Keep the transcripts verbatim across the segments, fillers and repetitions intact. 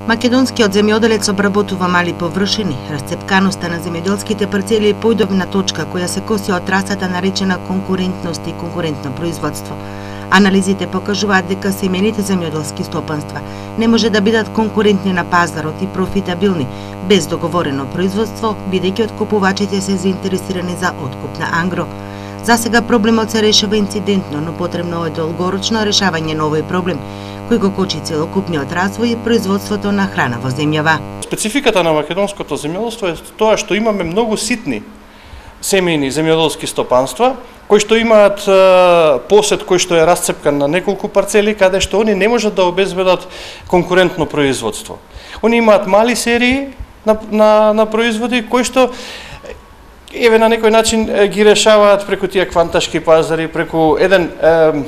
Македонскиот земјоделец обработува мали површини. Расцепканоста на земјоделските парцели е појдовна точка која се коси од трасата наречена конкурентност и конкурентно производство. Анализите покажуваат дека семените земјоделски стопанства не може да бидат конкурентни на пазарот и профитабилни без договорено производство, бидејќи откупувачите се заинтересирани за откуп на ангро. За сега проблемот се решава инцидентно, но потребно е долгорочно решавање на овој проблем, кој го кочи целокупниот развој и производството на храна во земјава. Спецификата на македонското земјоделство е тоа што имаме многу ситни семејни земјоделски стопанства, кои што имаат посед кој што е расцепкан на неколку парцели, каде што они не можат да обезбедат конкурентно производство. Они имаат мали серии на, на, на производи, кои што еве на некој начин ги решаваат преку тие кванташки пазари, преку еден е,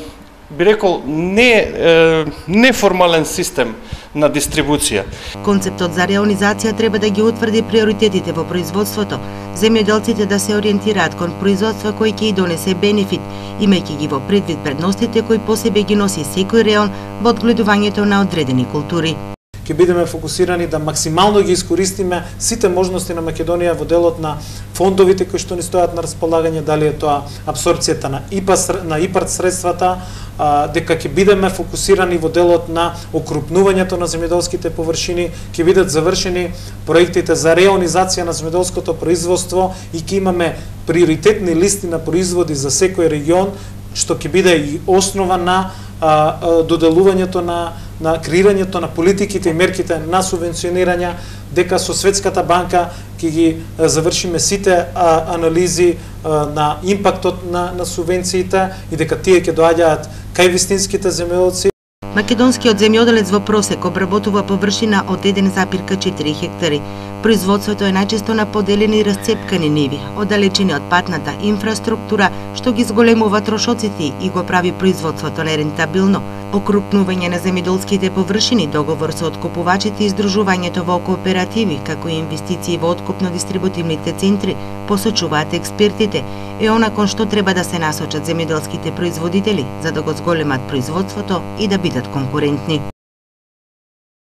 би рекол не е, неформален систем на дистрибуција. Концептот за реализација треба да ги утврди приоритетите во производството, земјоделците да се ориентираат кон производство кој ќе и донесе бенефит, имајќи ги во предвид предностите кои по себе ги носи секој реон во одгледувањето на одредени култури. Ќе бидеме фокусирани да максимално ги искористиме сите можности на Македонија во делот на фондовите кои што ни стојат на располагање, дали е тоа апсорбцијата на ИПА на ИПАРД средствата, а, дека ќе бидеме фокусирани во делот на окрупнувањето на земјоделските површини, ќе бидат завршени проектите за реонизација на земјоделското производство и ќе имаме приоритетни листи на производи за секој регион, што ќе биде и основа на а, а, доделувањето на на креирањето на политиките и мерките на субвенционирање, дека со Светската банка ќе ги завршиме сите а, анализи а, на импактот на, на субвенциите и дека тие ќе доаѓаат кај вистинските земјоделци. Македонскиот земјоделец во просек обработува површина од еден запирка четири хектари. Производството е најчесто на поделени и расцепкани ниви, оддалечени од патната инфраструктура, што ги зголемува трошоците и го прави производството нерентабилно. Окрупнување на земјоделските површини, договор со откупувачите и издружувањето во кооперативи, како и инвестиции во откупно-дистрибутивните центри, посочуваат експертите, е она кон што треба да се насочат земјоделските производители, за да го зголемат производството и да бидат конкурентни.